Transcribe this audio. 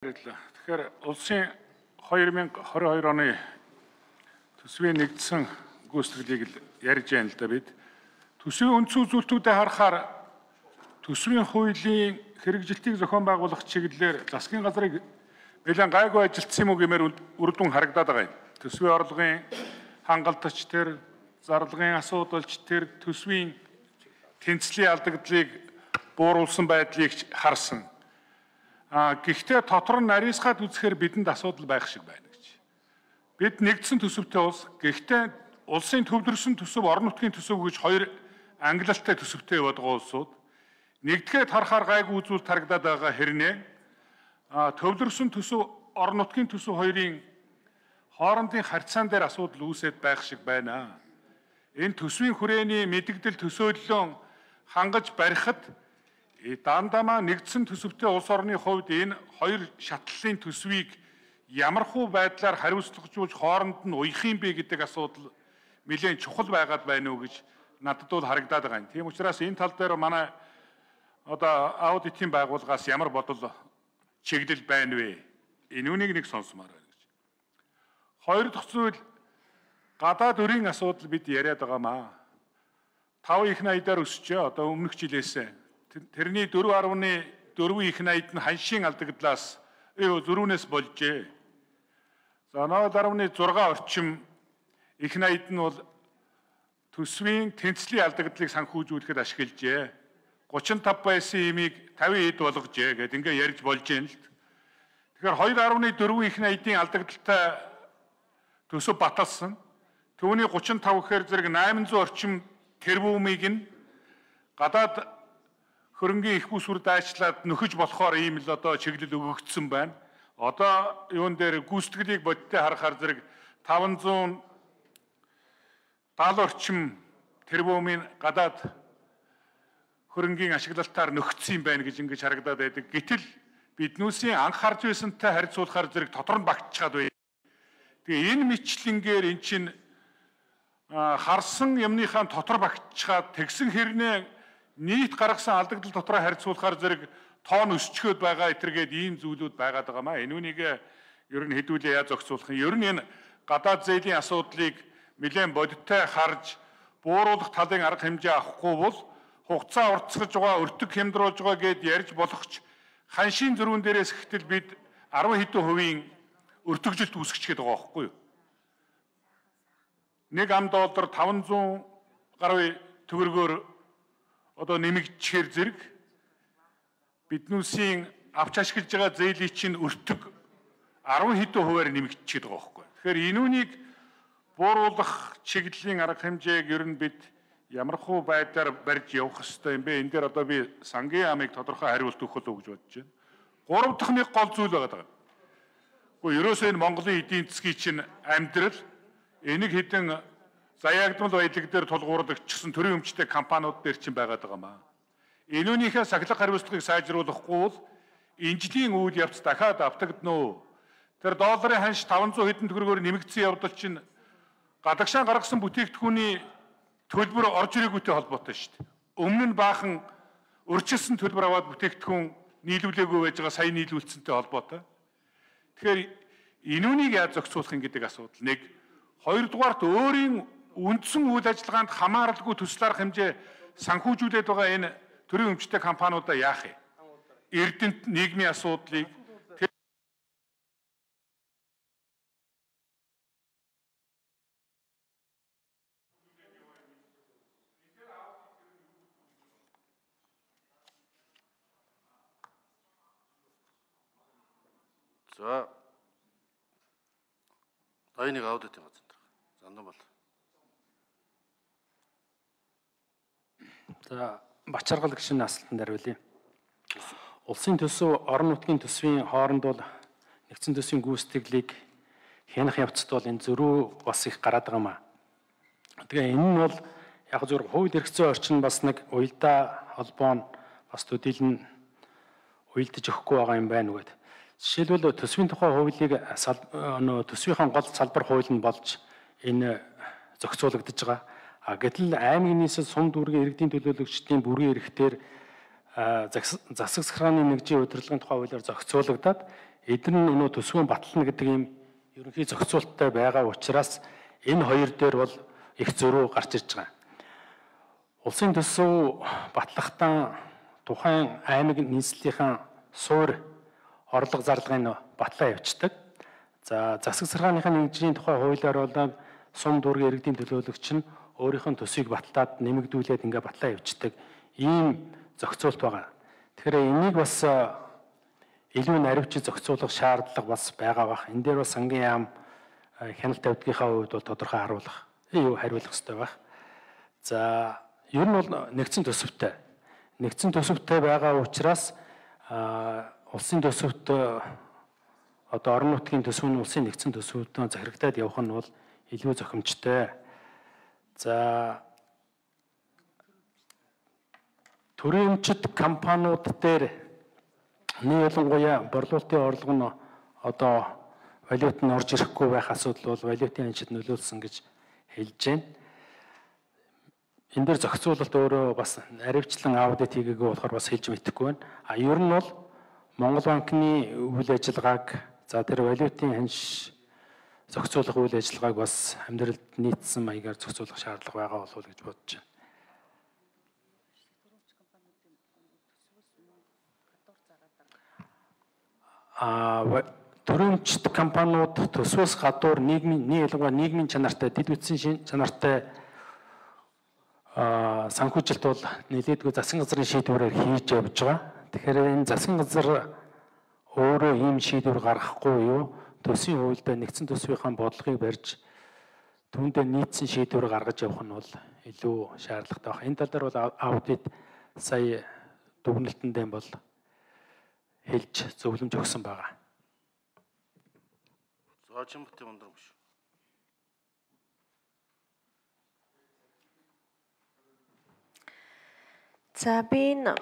Тэгэхээр улсын 2022 оны төсвийн нэгдсэн гүйцэтгэлийг ярьж байна л да бид. Төсвийн үндсэн үзүүлэлтүүдэд харахаар төсвийн хуулийн хэрэгжилтийг зохион байгуулах чиглэлээр засгийн газрыг нэлээд гайгүй ажилтсан юм уу гэмээр үр дүн харагдаад байгаа юм. Төсвийн орлогын хангалтч тэр, зарлагын асуудалч тэр, төсвийн тэнцлийн алдагдлыг бууруулсан байдлыг харсан. Гэхдээ дотор нь нарийсгаад үзэхээр бидэнд асуудал байх шиг байна гэж. Бид нэгдсэн төсөвтэй улс, гэхдээ улсын төвлөрсөн төсөв, орон нутгийн төсөв гэж хоёр ангилалтай төсөвтэй яваад байгаа улсууд нэгдгээд харахаар гайгүй үзүүлэлт харагдаад байгаа хэрнээ төвлөрсөн төсөв, орон нутгийн төсөв хоёрын хоорондын харьцаан дээр асуудал үүсээд байх шиг байна. Энэ төсвийн хүрээний мэдэгдэл төсөөллөн хангаж барихад дандамаа нэгдсэн төсөвтэй улс орны хувьд энэ хоёр шатлалын төсвийг ямархуу байдлаар хариуцлагажуулж хооронд нь уях юм бэ гэдэг асуудал нэлээд чухал байгаад байна уу гэж надад бол харагдаад байгаа юм. Тийм учраас энэ тал дээр манай аудитын байгууллагаас ямар бодол чиглэл байна вэ? Энэ үнийг нэг сонсомоор байна гэж. Хоёр дахь зүйл гадаад өрийн асуудал бид яриад байгаамаа. 5 их найдаар өсчөө одоо өмнөх жилээс тэрний 4.4 их найд нь ханшийн алдагдлаас зөрүүнээс болжээ. За 0.6 орчим их найд нь бол төсвийн тэнцлийн алдагдлыг санхүүжүүлэхэд ашиглажээ. 35 байсан имийг 50 хэд болгожээ гэд ингээ ярьж болж юм л. Тэгэхээр 2.4 их найдын алдагдaltaй төсөв баталсан. Түүний 35 гэхээр зэрэг 800 орчим тэрбумыг нь гадаад хөрөнгийн их усүр дайчлаад нөхөж болохоор ийм л чиглэл өгөгдсөн байна. Одоо юун дээр гүйцэтгэлийг бодиттой харахаар зэрэг 570 орчим тэрбумын гадаад хөрөнгийн ашиглалтаар нөхцсөн юм байна гэж ингэж харагдаад байдаг. Гэтэл биднүүсийн анх харж байсантай харьцуулахаар зэрэг дотор нь багтчихад байна. Тэгээ энэ мэтлэнгээр эн чинь харсан юмныхаа дотор багтчихад тэгсэн хэрнээ нийт гаргасан алдагдал дотроо харьцуулахаар зэрэг тоон өсчгөөд байгаа этергээд ийм зүйлүүд байгаад байгаамаа. Энэ үнийг ер нь хэдүүлээ яаж зохицуулах юм. Ер нь энэ гадаад зээлийн асуудлыг нэлээд бодиттой харж бууруулах талын арга хэмжээ авахгүй бол хугацаа уртсгаж байгаа, өртөг хямдруулж байгаа гэд ярьж болохч ханшийн зөрүүн дээрээс ихтэл бид 10 хэдэн хувийн өртөгжилт үүсгэж байгаа байхгүй юу? Нэг $1 500 гаруй төгрөгөөр нэмэгдэхээр зэрэг биднүүсийн авч ашиглаж байгаа зээлийн чинь өртөг 10 хэдэн хувиар нэмэгдчихэд байгаа байхгүй. Тэгэхээр энэ үнийг бууруулах чиглэлийн арга хэмжээг ер нь бид ямархуу байдлаар барьж явах хэрэгтэй юм бэ? Энэ дээр би сангийн амыг тодорхой хариулт өгөх л гэж бодож байна. Гурав дахь нэг гол зүйл байгаа. Гэхдээ ерөөсөө энэ Монголын эдийн засгийн чинь амьдрал энийг хэдэн заяагдмал баялаг дээр тулгуурлагдчихсан төрийн өмчтэй компаниуд дээр чинь байгаад байгаамаа. Энэ үнийхээ сахилга хариуцлагыг сайжруулахгүй бол инжилийн үйл явц дахиад автагдана уу? Тэр долларын ханш 500 хэдэн төгрөгөөр нэмэгдсэн явдал чинь гадагшаа гаргасан бүтээгдэхүүний төлбөр орж ирээгүй холбоотой шүү дээ. Өмнө нь баахан өрчилсөн төлбөр аваад бүтээгдэхүүн нийлүүлээгүй байж байгаа, сая нийлүүлсэнтэй холбоотой. Тэгэхээр энэ үнийг яаж зохицуулах юм гэдэг асуудал нэг. Хоёрдугаарт өөрийн үндсэн үйл ажиллагаанд хамааралгүй төсөл арга хэмжээ санхүүжүүлээд байгаа энэ төрийн өмчтэй компаниудаа яах вэ? Эрдэнэт нийгмийн асуудлыг за дайныг аудитын газар зандан бол. За Бачаргал гишүүний асуултанд хариулъя. Улсын төсөв, орон нутгийн төсвийн хооронд бол нэгдсэн төсвийн гүйцэтгэлийг хянах явцад бол энэ зөрүү бас их гараад байгаамаа. Тэгээ энэ нь бол яг зөвхөн хууль эрх зүйн орчин бас нэг уялдаа холбоо нь бас төдийлөн уялдаж өгөхгүй байгаа юм байна үгээд. Жишээлбэл төсвийн тухай хуулийг төсвийн гол салбар хууль нь болж энэ зохицуулагдаж байгаа. Гэтэл аймгийн нийслэл сум дүүргийн иргэдийн төлөөлөгчдийн бүрэн эрхтээр засаг захиргааны нэгжийн удирдлагын тухай хуулиар зохицуулагдаад эдгээр нь өнөө төсвийн батлна гэдэг ийм ерөнхий зохицуулттай байгаа учраас энэ хоёр дээр бол их зөрүү гарч ирж байгаа. Улсын төсөв батлахдаа тухайн аймаг нийслэлийнхаа суур орлого зарлагын батлаа явьчдаг. За засаг саргааныхаа нэгжийн тухай хуулиар бол сум дүүргийн иргэдийн төлөөлөгч нь өөрийнх нь төсвийг батлаад нэмэгдүүлээд ингээ батлаа явьчдаг ийм зохицуулт байгаа. Тэгэхээр энийг бас илүү наривчид зохицуулах шаардлага бас байгаа бах. Энэ дээр бас сангийн яам хяналт тавьдгийнхаа хувьд бол тодорхой хариулах хэрэгтэй байх. За ер нь бол нэгдсэн төсөвтэй. Нэгдсэн төсөвтэй байгаа учраас улсын төсөвт одоо орон нутгийн төсөв нь улсын нэгдсэн төсөвтөө захирагдаад явах нь бол илүү зохимжтой. За төрийн өмчит компаниуд дээр ялангуяа борлуулалтын орлого нь одоо валют нь орж ирэхгүй байх асуудал бол валютын ханшид нөлөөлсөн гэж хэлж байна. Энэ дээр зохицуулалт өөрөө бас наривчлан аудит хийгээгүй болохоор бас хэлж мэдэхгүй байна. Ер нь бол Монгол банкны үйл ажиллагааг за тэр валютын ханш зохицуулах үйл ажиллагааг бас амьдралд нийцсэн маягаар зохицуулах шаардлага байгаа болов уу гэж бодож байна. Төрөмчт компаниуд төсвөөс гадуур нийгмийн чанартай, дэд бүтцийн чанартай санхүүжилт бол нэлээдгүй засгийн газрын шийдвэрээр хийж явж байгаа. Тэгэхээр энэ засгийн газар өөрөө ийм шийдвэр гаргахгүй юу? Төсвийн хуульд нэгдсэн төсвийнхаа бодлогыг барьж түүндээ нийцсэн шийдвэр гаргаж явах нь бол илүү шаардлагатай байна. Энэ тал дээр бол аудит сая дүгнэлтэндээ бол хэлж зөвлөмж өгсөн байгаа. Зоочинбатын ундрам биш. За би энэ